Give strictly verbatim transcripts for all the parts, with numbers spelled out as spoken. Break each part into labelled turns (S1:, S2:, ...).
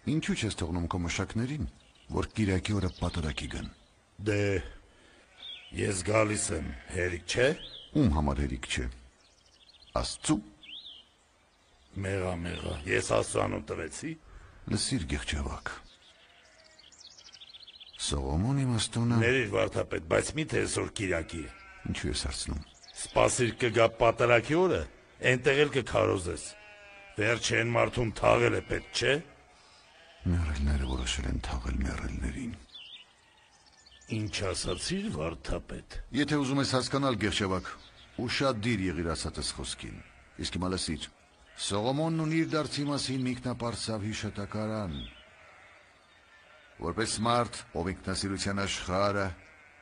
S1: Ինչու չես թողնում քո մշակներին, որ կիրակի օրը պատարակի գան։
S2: Դե ես գալիս եմ, հերիք չէ։
S1: Ում համար հերիք չէ։ Աստծու։
S2: Մեղա մեղա, ես Աստծուանուն տվեցի։
S1: Լսիր գեղջավակ։ Սողոմոն իմաստունը։
S2: Ներիր վարդապետ, բայց միթե այսօր կիրակի է։
S1: Ինչու ես հարցնում։
S2: Սպասիր կգա պատարակի օրը, այնտեղ էլ կքարոզես։ Վերջը այն մարդուն թաղել է պետք, չէ։
S1: Մեռելները որոշել են թաղել մեռելներին։
S2: Ինչ ասացիր, վարդապետ։
S1: Եթե ուզում ես հասկանալ գեղջավակ, ուշադիր եղիր ասածս խոսքին։ Իսկ հիմա լսիր։ Սողոմոնն ունի իր դարձի մասին մի ինքնապարծավ հիշատակարան։ Որպես մարդ, ով ինքնասիրության աշխարհը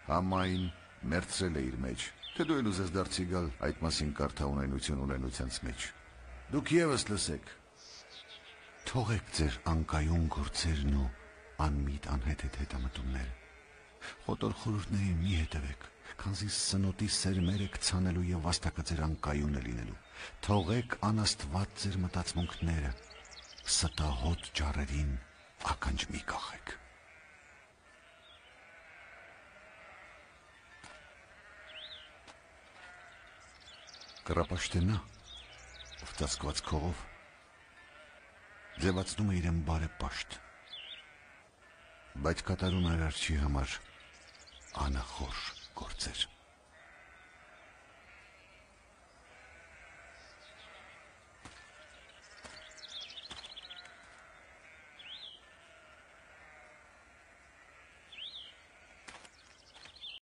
S1: համայն մերձել է իր մեջ, թե դու էլ ուզես դարձի գալ այդ մասին կարդա ունենություն ունենությանց մեջ։ Դուք ևս լսեք։ Թողեք ձեր անկայուն գործերն ու անմիտ անհեթեթ հետամտումները։ Խոտոր խորհուրդներին մի հետևեք, քանզի սնոտի սերմերը կցանելու եւ վաստակը ձեր անկայունը լինելու։ Թողեք անաստված ձեր մտածմունքները, ստահոտ ջարերին ականջ մի կախեք։ Կռապաշտենա, ով ծածկված քողով, ձևացնում է իրեն բարեպաշտ, բայց կատարում է արարչի համար անախորժ գործեր։